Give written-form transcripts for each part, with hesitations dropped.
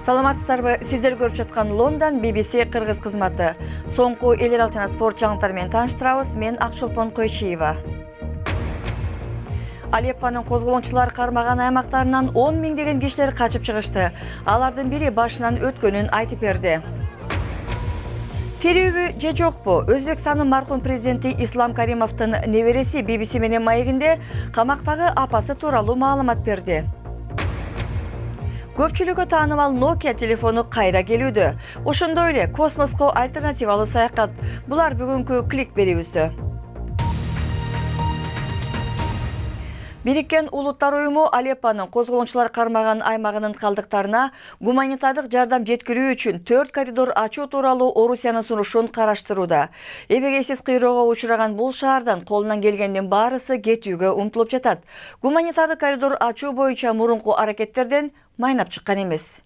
Саламатсыздарбы? Сиздер көрүп жаткан Лондон BBC кыргыз кызматы. Соңку эл аралык жана спорт жаңылыктары менен тааныштырабыз. Мен Акчолпон Койчиева. Алеппонун козголоңчулар кармаган аймактарынан 10 миңдеген кишилер качып чыгышты. Алардын бири башынан өткөнүн айтып берди. Тирүүбү же жокпу? Өзбекстандын маркум президенти Ислам Каримовдун небереси BBC менен маегинде камактагы апасы тууралуу маалымат берди. Көпчүлүккө таанымал Nokia телефону кайра келүүдө. Ошондой эле космоско альтернативалуу саякат. Булар бүгүнкү клик берүүбүздө. Бириккен Улуттар уюму Алеппонун козголоңчулар кармаган аймагынын калдыктарына гуманитардык жардам жеткирүү үчүн 4 коридор ачуу тууралуу Орусиянын сунушун караштырууда. Эбегейсиз кыйроого учураган бул шаардан колунан келгендин баарысы кетүүгө умтулуп жатат. Гуманитардык коридор ачуу боюнча мурунку аракеттерден майнап чыккан эмес.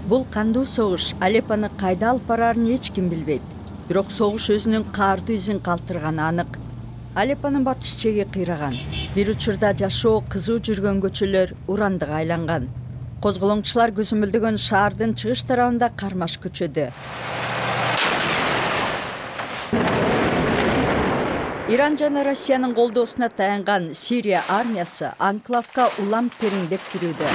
Бул кандуу согуш Алеппону кайда алып барарын эч ким билбейт. Бирок согуш өзүнүн каардуу изин калтырганы анык. Алеппонун батыш чеги кыйраган. Бир учурда жашоо кызуу жүргөн көчөлөр урандыга айланган. Козголоңчулар көзөмөлдөгөн шаардын чыгыш тарабында кармаш көчөдө. Иран жана Россиянын колдоосуна таянган Сирия армиясы анклавка улам тереңдеп кирүүдө.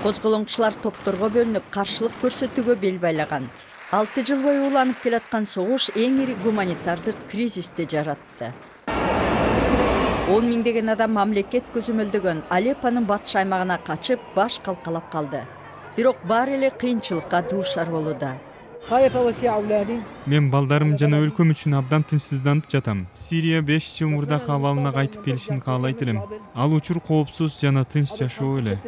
Козголоңчулар топторго бөлүнүп каршылык көрсөтүүгө бел байлаган. 6 жыл бою уланып келаткан согуш эң ири гуманитардык кризисти жаратты. 10 миңдеген адам мамлекет көзөмөлдөгөн Алеппонун батыш аймагына качып, баш калкалап калды. Бирок баары эле кыйынчылыкка дуушар болууда. Мен балдарым жана өлкөм үчүн абдан тынчсызданып жатам. Сирия 5 жыл мурдакы абалына кайтып келишин каалайт элем. Ал учур коопсуз жана тынч жашоо эле.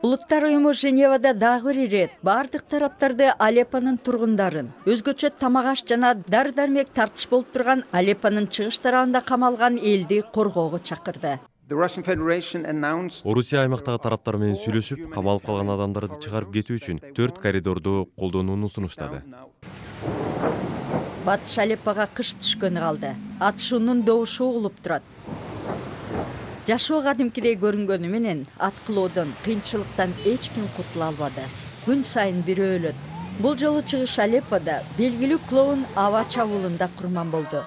Улуттар уюму Женевада дагы бир ирет бардык тараптарды Алеппонун тургундарын, өзгөчө тамак-аш жана дары-дармек тартыш болуп турган Алеппонун чыгыш тарабында камалган элди коргоого чакырды. Орусия аймактагы тараптар менен сүйлөшүп, камалып калган адамдарды чыгарып кетүү үчүн 4 коридорду колдонууну сунуштады. Батыш Алеппога кыш түшкөнү калды. Атышуунун добушу угулуп турат. Жашоо кадимкидей көрүнгөнү менен аткылоодон, кыйынчылыктан эч ким кутула албады. Күн сайын бирөө өлөт. Бул жолу чыгыш Алеппода белгилүү клоун аба чабуулунда курман болду.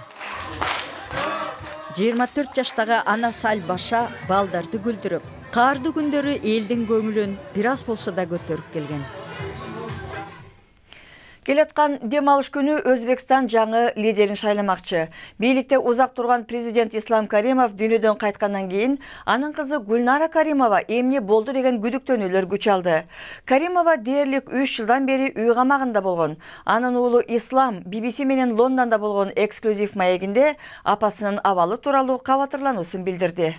24 жаштагы Ана Саль Баша балдарды күлдүрүп, каардуу күндөрү элдин көңүлүн бир аз болсо да көтөрүп келген. Келаткан дем алыш күнү Өзбекстан жаңы лидерин шайламакчы. Бийликте узак турган президент Ислам Каримов дүйнөдөн кайткандан кийин анын кызы Гульнара Каримова эмне болду деген күдүктөнүүлөр күч алды. Каримова дээрлик 3 жылдан бери үй камагында болгон. Анын уулу Ислам BBC менен Лондондо болгон эксклюзив маегинде апасынын абалы тууралуу кабатырлануусун билдирди.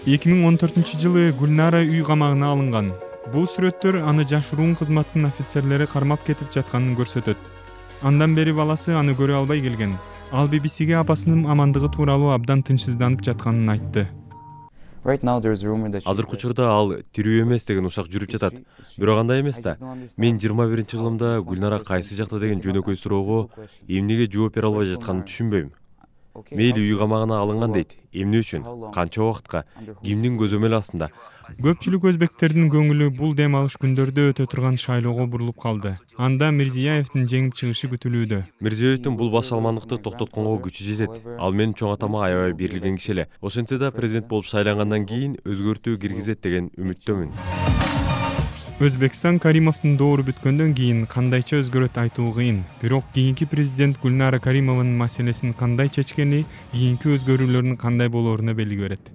2014-жылы Гульнара үй камагына алынган. Бул сүрөттөр аны жашыруун кызматтын офицерлери кармап кетип жатканын көрсөтөт. Андан бери баласы аны көрө албай келген. Ал BBCге апасынын амандыгы тууралуу абдан тынчсызданып жатканын айтты. Азыркы учурда ал тирүү эмес деген ушак жүрүп жатат. Бирок андай эмес да. Мен 21-жылымда Гульнара кайсы жакта деген жөнөкөй суроого эмнеге жооп бере албай жатканын түшүнбөйм. Мейли үй камагына алынган дейт. Эмне үчүн? Канча убакытка? Кимдин көзөмөлү астында? Көпчүлүк өзбектердин көңүлү бул дем алыш күндөрдө өтө турган шайлоого бурулуп калды. Анда Мирзиёевдин жеңип чыгышы күтүлүүдө. Мирзиёевдин бул башалмандыкты токтотконго күчү жетет. Ал менин чоң атама аябай берилген киши эле. Ошентсе да президент болуп шайлангандан кийин өзгөртүү киргизет деген үмүттөмүн. Өзбекстан Каримовдун доору бүткөндөн кийин кандайча өзгөрөт айтуу кыйын. Бирок кийинки президент Гульнара Каримованын маселесин кандай чечкени кийинки өзгөрүүлөрдүн кандай болооруна белги берет.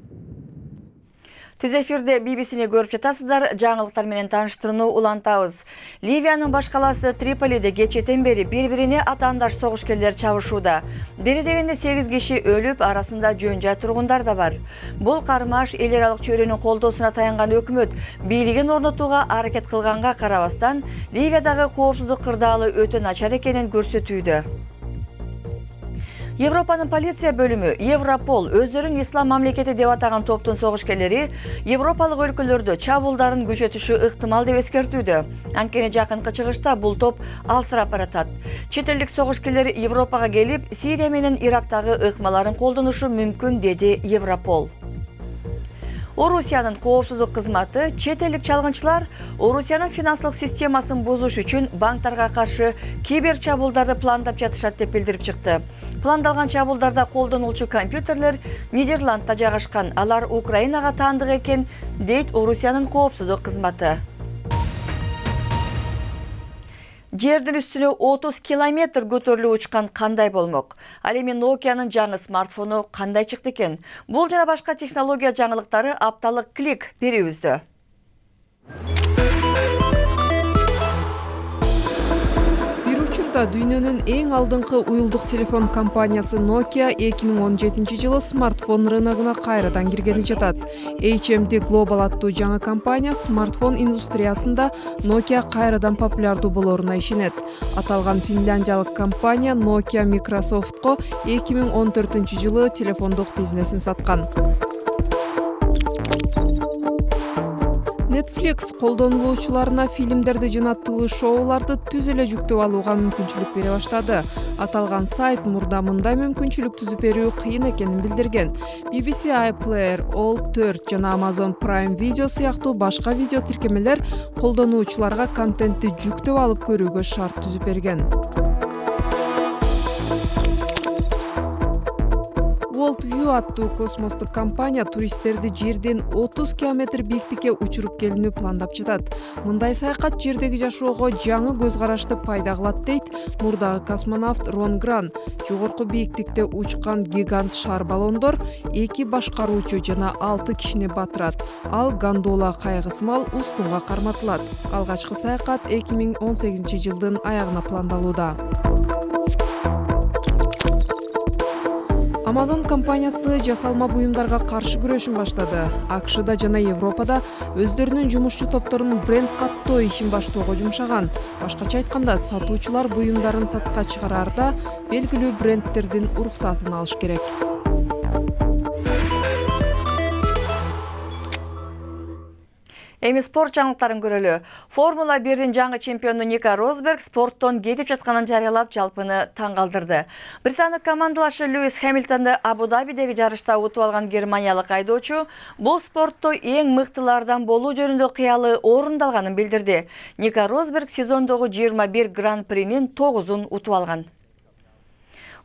Түз эфирде BBC'ни көрүп жатасыздар. Жаңылыктар менен тааныштырууну улантабыз. Ливиянын баш калаасы Триполиде кечэтен бери бири-бирине атаандаш согушкерлер чабышууда. Бери дегенде 8 киши өлүп, арасында жөн-жай тургундар да бар. Бул кармаш эл аралык чөйрөнүн колдоосуна таянган өкмөт бийлигин орнотууга аракет кылганга карабастан, Ливиядагы коопсуздук кырдаалы өтө начар экенин көрсөтүүдө. Европанын полиция бөлүмү Европол өздөрүн ислам мамлекети деп атаган топтун согушкерлери европалык өлкөлөрдө чабуулдарын күчөтүшү ыктымал деп эскертүүдө. Анткени жакынкы чыгышта бул топ алсырап баратат. Чет элдик согушкерлер Европага келип, Сирия менен Ирактагы ыкмаларын колдонушу мүмкүн, деди Европол. Орусиянын коопсуздук кызматы чет элдик чалгынчылар Орусиянын финансылык системасын бузуш үчүн банктарга каршы кибер чабуулдарды пландап жатышат деп билдирип чыкты. Пландалган чабуулдарда колдонулчу компьютерлер Нидерландда жайгашкан. Алар Украинага таандык экен, дейт Орусиянын коопсуздук кызматы. Жердин үстүнө 30 километр көтөрүлүп учкан кандай болмок? Ал эми Nokia'нын жаңы смартфону кандай чыкты экен? Бул жана башка технология жаңылыктары апталык клик берүүбүздө. Дүйнөнүн эң алдыңкы уюлдук телефон компаниясы Nokia 2017 жылы смартфон рыногуна кайрадан киргени жатат. HMD Global аттуу жаңы компания смартфон индустриясында Nokia кайрадан популярдуу болоруна ишенет. Аталган финляндиялык компания Nokia Microsoftко 2014 жылы телефондук бизнесин саткан. Netflix колдонулуучуларына фильмдерди жана ТВ-шоуларды түз эле жүктөп алууга мүмкүнчүлүк бере баштады. Аталган сайт мурда мындай мүмкүнчүлүк түзүп берүү кыйын экенин билдирген. BBC iPlayer, All4 жана Amazon Prime Video сыяктуу башка видео тиркемелер колдонуучуларга контентти жүктөп алып көрүүгө шарт түзүп берген. Worldview аттуу космостук компания туристтерди жерден 30 километр бийиктикке учуруп келүүнү пландап жатат. Мындай саякат жердеги жашоого жаңы көз карашты пайда кылат дейт мурдагы космонавт Рон Гран. Жогорку бийиктикте учкан гигант шар баллондор 2 башкаруучу жана 6 кишини батырат. Ал гондола кайыгы сымал устунга карматылат. Алгачкы саякат 2018 жылдын аягына пландалууда. Amazon компаниясы жасалма буюмдарга каршы күрөшүн баштады. АКШда жана Европада өздөрүнүн жумушчу топторунун бренд каттоо ишин баштоого жумшаган. Башкача айтканда, сатуучулар буюмдарын сатка чыгараарда белгилүү брендтердин уруксатын алыш керек. Эми спорт жаңылыктарын көрөлү. Формула 1-дин жаңы чемпиону Ника Росберг спорттон кетип жатканын жарыялап жалпыны таң калтырды. Британдык командалашы Льюис Хэмилтонду Абу-Дабидеги жарышта утуп алган германиялык айдоочу бул спортто эң мыктылардан болуу жөнүндө кыялы орундалганын билдирди. Ника Росберг сезондогу 21 гран-принин 9-ун утуп алган.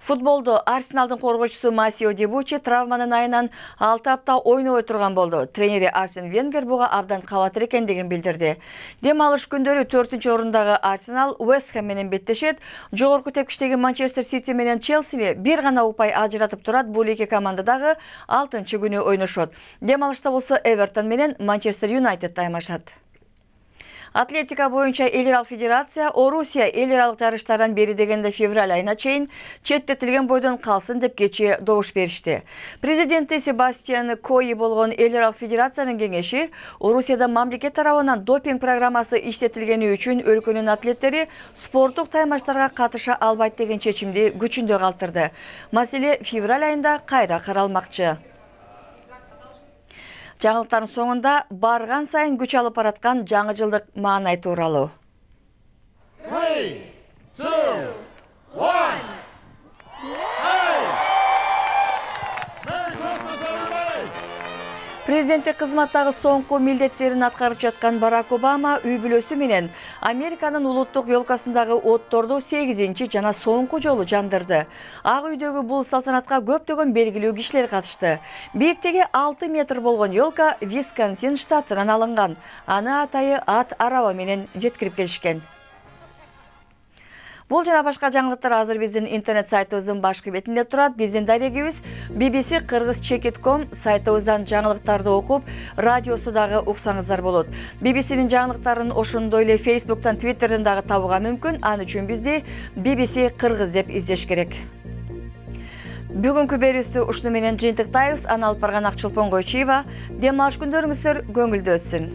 Футболдо Арсеналдын коргоочусу Масио Дебучи травманын айынан 6 апта ойнобой турган болду. Тренери Арсен Венгер буга абдан кабатыр экендигин билдирди. Дем алыш күндөрү 4-орундагы Арсенал Вест Хэм менен беттешет. Жогорку тепкичтеги Манчестер Сити менен Челсини бир гана упай ажыратып турат. Бул эки команда дагы 6-күнү ойношот. Дем алышта болсо Эвертон менен Манчестер Юнайтед таймашат. Атлетика боюнча эл аралык федерация Орусия эл аралык жарыштардан бери дегенде февраль айына чейин четтетилген бойдон калсын деп кечээ добуш беришти. Президенти Себастьян Кои болгон эл аралык федерациянын кеңеши Орусияда мамлекет тарабынан допинг программасы иштетилгени үчүн өлкөнүн атлеттери спорттук таймаштарга катыша албайт деген чечимди күчүндө калтырды. Маселе февраль айында кайра каралмакчы. Жаңылыктардын соңунда барган сайын күч алып бараткан жаңы жылдык маанай тууралуу. 3, 2, 1. Президенттик кызматтагы соңку милдеттерин аткарып жаткан Барак Обама үй бүлөсү менен Американын улуттук ёлкасындагы отторду 8-чи жана соңку жолу жандырды. Ак үйдөгү бул салтанатка көптөгөн белгилүү кишилер катышты. Бийиктиги 6 метр болгон ёлка Висконсин штатынан алынган. Аны атайы ат араба менен жеткирип келишкен. Бул жана башка жаңылыктар азыр биздин интернет сайтыбыздын башкы бетинде турат. Биздин дарегибиз bbc-kyrgyz.com сайтыбыздан жаңылыктарды окуп, радиосу дагы уксаңыздар болот. BBC-нин жаңылыктарын ошондой эле Facebook'тан, Twitter'дан дагы табууга мүмкүн. Аны үчүн бизди BBC Кыргыз деп издеш керек. Бүгүнкү берүүбүздү ушуну менен жыйынтыктайбыз. Аны алып барган Акчолпон Койчиева. Дем алыш күндөрүңүздөр көңүлдүү өтсүн.